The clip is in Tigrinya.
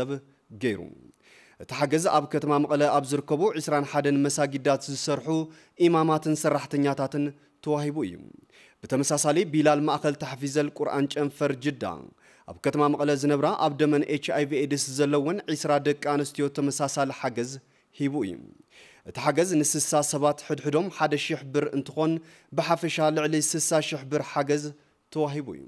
ሰብ ገይሩ። እቲ ሓገዝ ኣብ ከተማ መቐለ ኣብ ዝርከቡ ዕስራን ሓደን መሳጊዳት ዝሰርሑ ኢማማትን ሰራሕተኛታትን ተዋሂቡ እዩ። ብተመሳሳሊ ቢላል ማእኸል ታሕፊዘል ቁርኣን ጨንፈር ጅዳ ኣብ ከተማ መቐለ ዝነብራ ኣብ ደመን ኤች ኣይ ቪ ኤድስ ዘለወን ዕስራ ደቂ ኣንስትዮ ተመሳሳሊ ሓገዝ ሂቡ እዩ። እቲ ሓገዝ ንስሳ ሰባት ሕድሕዶም ሓደ ሺሕ ብር እንትኾን ብሓፈሻ ልዕሊ ስሳ ሺሕ ብር ሓገዝ ተዋሂቡ እዩ።